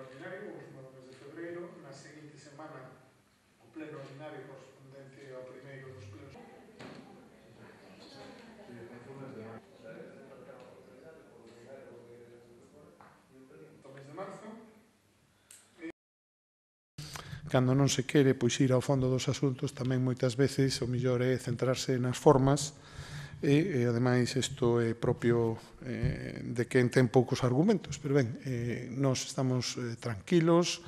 ordinario, o último do mes de febreiro, na seguinte semana o pleno ordinario correspondente ao primeiro dos plenos do mes de marzo. Cando non se quere pois ir ao fondo dos asuntos, tamén moitas veces o mellor é centrarse nas formas e ademais isto é propio de quen ten poucos argumentos, pero ben, nós estamos tranquilos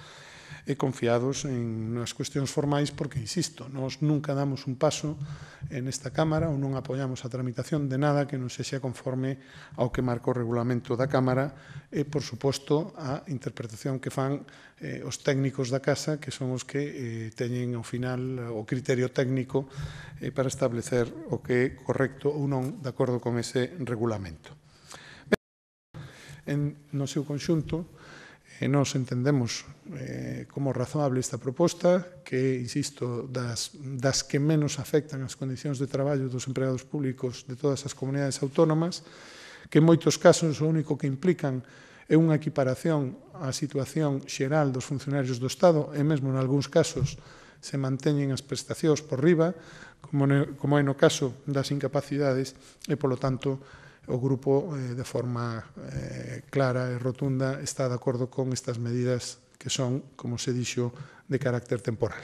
e confiados en nas cuestións formais porque, insisto, nós nunca damos un paso en esta Cámara ou non apoiamos a tramitación de nada que non sexa conforme ao que marca o regulamento da Cámara e, por suposto, a interpretación que fan os técnicos da Casa, que son os que teñen, ao final, o criterio técnico para establecer o que é correcto ou non de acordo con ese regulamento. No seu conxunto, nós entendemos como razoable esta proposta, que, insisto, das que menos afectan as condicións de traballo dos empregados públicos de todas as comunidades autónomas, que en moitos casos o único que implican é unha equiparación á situación xeral dos funcionarios do Estado e mesmo en algúns casos se manteñen as prestacións por riba, como é no caso das incapacidades e, polo tanto, o grupo de forma clara e rotunda está de acordo con estas medidas que son, como se dixo, de carácter temporal.